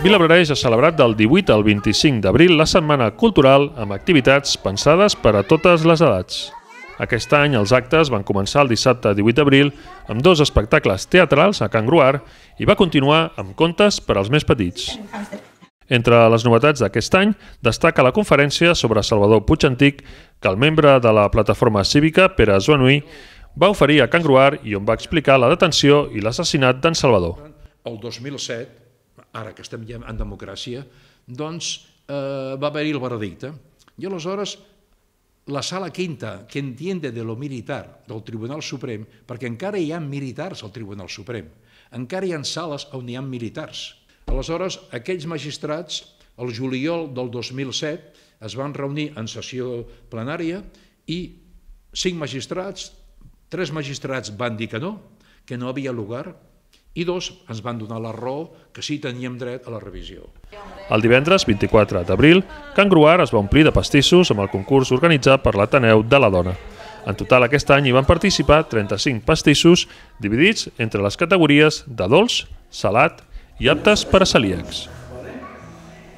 Vilablareix ha celebrat del 18 al 25 d'abril la Setmana Cultural amb activitats pensades per a totes les edats. Aquest any els actes van començar el dissabte 18 d'abril amb 2 espectacles teatrals a Can Gruar i va continuar amb contes per als més petits. Entre les novetats d'aquest any destaca la conferència sobre Salvador Puig Antic que el membre de la plataforma cívica, Pere Zuanuí, va oferir a Can Gruar i on va explicar la detenció i l'assassinat d'en Salvador. El 2007, ara que estem ja en democràcia, doncs va haver-hi el veredicte. I aleshores la sala quinta, que entiende de lo militar del Tribunal Suprem, perquè encara hi ha militars al Tribunal Suprem, encara hi ha sales on hi ha militars. Aleshores, aquells magistrats, el juliol del 2007, es van reunir en sessió plenària i 5 magistrats, 3 magistrats van dir que no havia lugar, i 2 ens van donar la raó que sí teníem dret a la revisió. El divendres 24 d'abril, Can Gruar es va omplir de pastissos amb el concurs organitzat per l'Ateneu de la Dona. En total aquest any hi van participar 35 pastissos dividits entre les categories de dolç, salat i aptes per a celíacs.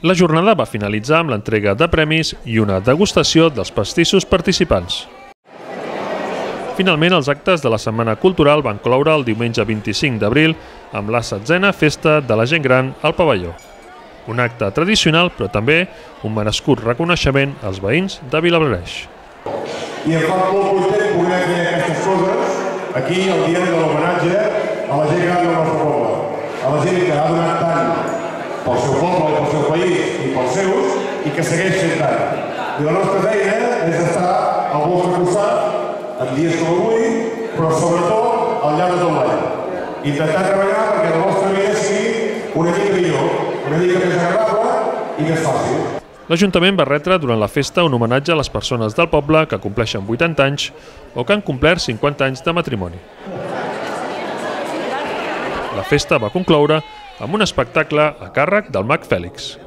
La jornada va finalitzar amb l'entrega de premis i una degustació dels pastissos participants. Finalment, els actes de la Setmana Cultural van cloure el diumenge 25 d'abril amb la 7a Festa de la Gent Gran al Pavelló. Un acte tradicional, però també un merescut reconeixement als veïns de Vilablareix. I em fa molt content poder fer aquestes coses aquí el dia de l'homenatge a la gent gran del nostre poble. A la gent que ha donat tant pel seu poble, pel seu país i pels seus i que segueix fent tant. I la nostra feina és estar al vostre costat en dies com avui, però sobretot al llarg de tot l'any. Intentar treballar perquè la vostra vida sigui una mica millor, una mica més agradable i més fàcil. L'Ajuntament va retre durant la festa un homenatge a les persones del poble que compleixen 80 anys o que han complert 50 anys de matrimoni. La festa va concloure amb un espectacle a càrrec del mag Fèlix.